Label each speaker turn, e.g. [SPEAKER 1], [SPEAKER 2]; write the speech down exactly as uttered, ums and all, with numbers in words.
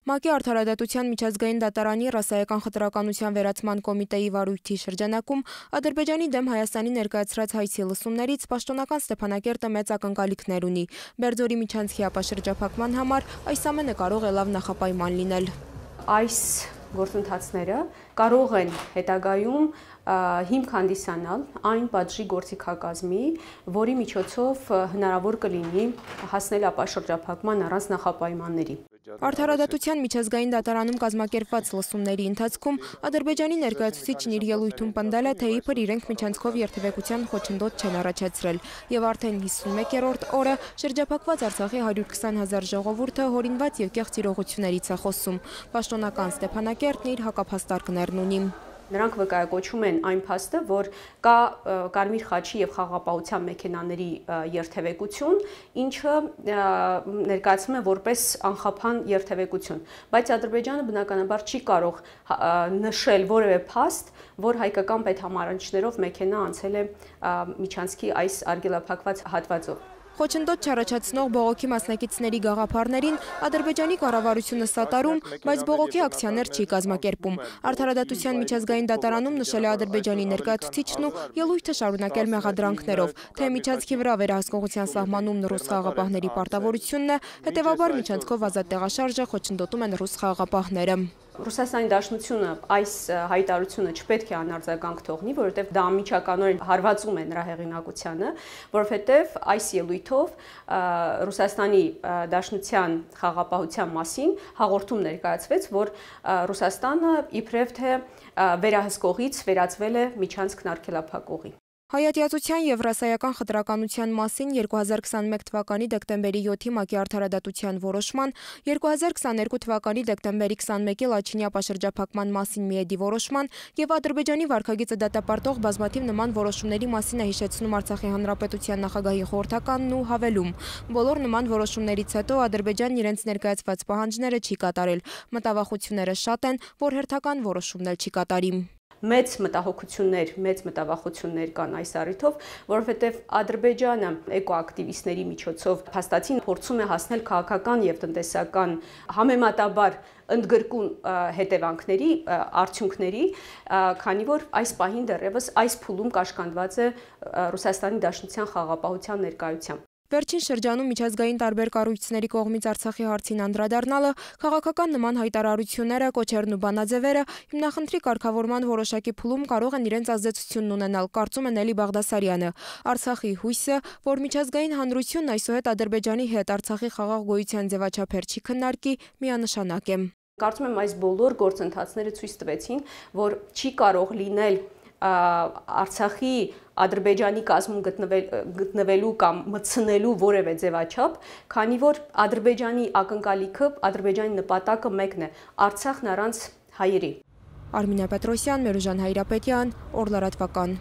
[SPEAKER 1] ՄԱԿ-ի Արդարադատության միջազգային դատարանի ռասայական խտրականության վերացման կոմիտեի վարույթի շրջանակում Ադրբեջանի դեմ Հայաստանի ներկայացրած հայցի լսումներից պաշտոնական Ստեփանակերտը մեծ ակնկալիքներ ունի։ Բերձորի միջանցքի ապաշրջափակման համար այս ամենը կարող է լավ նախապայման լինել։
[SPEAKER 2] Այս գործընթացները կարող են հետագայում հիմք հանդիսանալ այն պատժի գործիքակազմի, որի միջոցով հնարավոր կլինի հասնել ապաշրջափակման առանց նախապայմանների։
[SPEAKER 1] Արդարադատության միջազգային դատարանում կազմակերպված լսումների ընթացքում Ադրբեջանի ներկայացուցիչն իր ելույթում պնդել է, թե իբր իրենք միջանցքով երթևեկության խոչընդոտ չեն առաջացրել, եւ արդեն հիսունմեկերորդ օրը շրջափակված Արցախի հարյուր քսան հազար ժողովուրդը հորինված եւ կեղծ իրողություններից է խոսում։ Պաշտոնական Ստեփանակերտն իր հակափաստարկներն ունի։
[SPEAKER 2] Նրանք վկայակոչում են այն փաստը, որ կա Կարմիր խաչի եւ խաղապահության մեքենաների երթևեկություն, ինչը ներկայացվում է որպես անխափան երթևեկություն, բայց Ադրբեջանը բնականաբար չի կարող նշել որևէ փաստ, որ հայկական պետհամարանիշներով մեքենա անցել է միջանցքի այս արգելափակված հատվածով։
[SPEAKER 1] Խոչընդոտ չառաջացնող բողոքի մասնակիցների գաղափարներին Ադրբեջանի կառավարությունը սատարում, բայց բողոքի ակցիաներ չի կազմակերպում։ Արդարադատության միջազգային դատարանում նշել է Ադրբեջանի ներկայացուցիչն ու ելույթը շարունակել մեղադրանքներով, թե միջանցքի վրա վերահսկողության սահմանումն ռուս խաղաղապահների պարտավորությունն է, հետևաբար միջանցքով ազատ տեղաշարժը խոչընդոտում են ռուս խաղաղապահները։
[SPEAKER 2] Ռուսաստանի Դաշնությունը այս հայտարարությունը չպետք է անարձագանք թողնի, որովհետև դա անմիջականորեն հարվածում է նրա հեղինակությանը, որովհետև այս ելույթով Ռուսաստանի Դաշնության խաղաղապահության մասին հաղորդում ներկայացվեց, որ Ռուսաստանը իբրև թե վերահսկողից վերածվել է միջանցքն արգելափակողի։
[SPEAKER 1] Հայատյացության եւ ռասայական խտրականության մասին երկու հազար քսանմեկ թվականի դեկտեմբերի յոթի ՄԱԿ-ի արդարադատության որոշման, երկու հազար քսաներկու թվականի դեկտեմբերի քսանմեկի Լաչինի ապաշրջափակման մասին միեդի որոշման եւ Ադրբեջանի վարքագիծը դատապարտող բազմաթիվ նման որոշումների մասին է հիշեցնում Արցախի հանրապետության նախագահի խորհրդականն ու հավելում. բոլոր նման որոշումներից հետո Ադրբեջանն իրենց ներկայացված պահանջները չի կատարել։ Մտավախությունները շատ են, որ հերթական որոշումն էլ չի կատարի։
[SPEAKER 2] Մեծ մտահոգություններ, մեծ մտավախություններ կան այս առիթով, որովհետև Ադրբեջանը էկոակտիվիստների միջոցով փաստացին փորձում է հասնել քաղաքական եւ տնտեսական համեմատաբար ընդգրկուն հետևանքների, արդյունքների, քանի որ այս պահին դեռևս այս փուլում կաշկանդված է Ռուսաստանի Դաշնության խաղաղապահության ներկայությամբ։
[SPEAKER 1] Վերջին շրջանում միջազգային տարբեր կառույցների կողմից Արցախի հարցին անդրադառնալը, քաղաքական նման հայտարարությունները, կոչերն ու բանաձևերը հիմնախնդրի կարգավորման որոշակի փուլում կարող են իրենց ազդեցությունն ունենալ, կարծում է Նելի Բաղդասարյանը։ Արցախի հույսը, որ միջազգային հանրությունն այսուհետ Ադրբեջանի հետ Արցախի խաղաղ գոյության ձևաչափեր չի քննարկի, միանշանակ է։
[SPEAKER 2] Կարծում եմ այս բոլոր գործընթացները ցույց տվեցին, որ չի կարող լինել Արցախի Ադրբեջանի կազմում գտնվելու կամ մտցնելու որևէ ձևաչափ, քանի որ Ադրբեջանի ակնկալիքը, Ադրբեջանի նպատակը մեկն է՝ Արցախն առանց հայերի։
[SPEAKER 1] Արմինե Պետրոսյան, Մերուժան Հայրապետյան, Օր լրատվական։